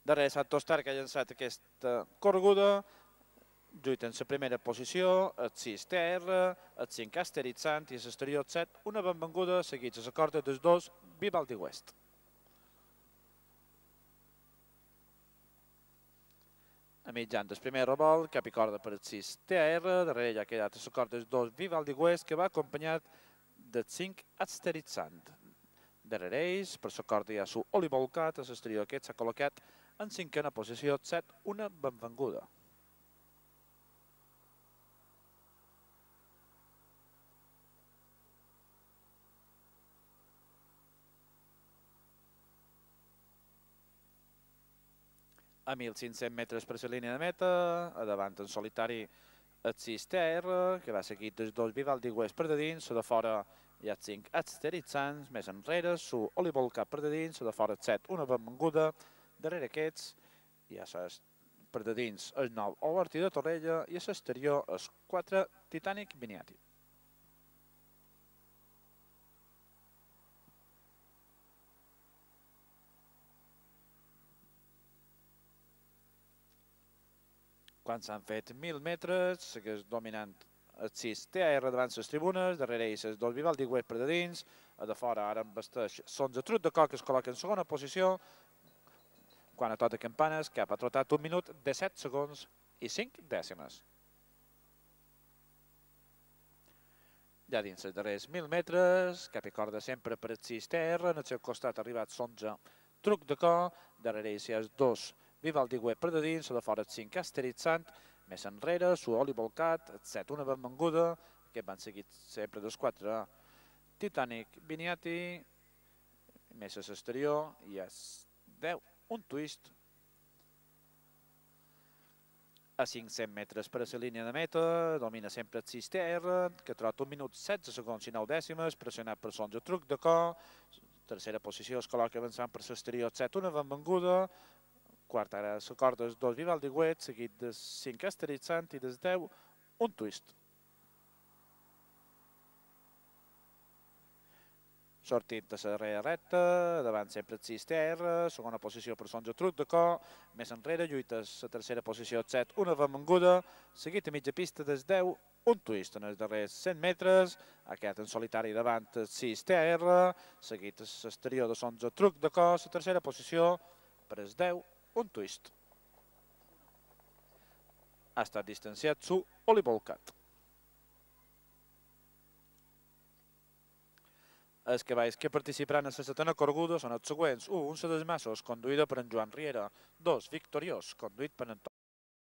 Darrere Sant Tostar, que ha llançat aquesta correguda, lluita en la primera posició, el 6 TR, el 5 Asteritzant i l'exterior 7, una benvenguda, seguits a la corda dels dos Vivaldi West. A mitjan del primer revolt, cap i corda per el 6 TR, darrere ja ha quedat a la corda dels dos Vivaldi West, que va acompanyat del 5 Asteritzant. Darrere ells, per la corda hi ha su Olivolcat, a l'exterior aquest s'ha col·locat en cinquena posició 7, una benvenguda. A 1.500 metres per la línia de meta, a davant en solitari el 6 TR, que va seguir dels dos Vivaldi West per de dins, la de fora hi ha el 5 Asteritzants, més enrere, su Olivolcat per de dins, la de fora el 7, una benvenguda, darrere aquests hi ha per de dins el 9 Oberti de Torrella i a l'exterior el 4 Titanic Viniati. Quan s'han fet 1.000 metres, segueix dominant el 6 TR davant les tribunes, darrere ells els dos Vivaldi West per de dins, a de fora ara embesteix Sonza Trut de Coc, que es col·loca en segona posició, quan a tota campanes, cap ha trotat 1 minut, 17 segons i 5 dècimes. Ja dins els darrers 1.000 metres, cap i corda sempre per el 6 TR, en el seu costat ha arribat Sonza Truc de Coc, darrere ells hi ha els dos Vivaldi West per de dins, de fora el 5 Asteritzant, més enrere, su Olivolcat, el 7 una benvenguda, que van seguir sempre dels 4 Titanic Viniati, més a l'exterior i el 10 un twist. A 500 metres per a la línia de meta, domina sempre el 6 TR, que trota 1 minut 16 segons i 9 dècimes, pressionat per Sonza Truc de Coc, tercera posició es col·loca avançant per l'exterior 7 una benvenguda, quart ara la corda dels dos Vivaldi West, seguit del 5 Asteritzant i del 10 un twist. Sortint a la darrera recta, davant sempre el 6 TR, segona posició per Sonza Truc de Coc, més enrere lluita la tercera posició el 7, una benvenguda, seguit a mitja pista del 10 un twist. En els darrers 100 metres ha quedat en solitari davant el 6 TR, seguit a l'exterior de Sonza Truc de Coc, la tercera posició per el 10 un twist. Ha estat distanciat su Olivolcat. Els cavalls que participaran en la setena correguda són els següents. 1. Un Sedesmassos, conduïda per en Joan Riera. 2. Victoriós, conduït per en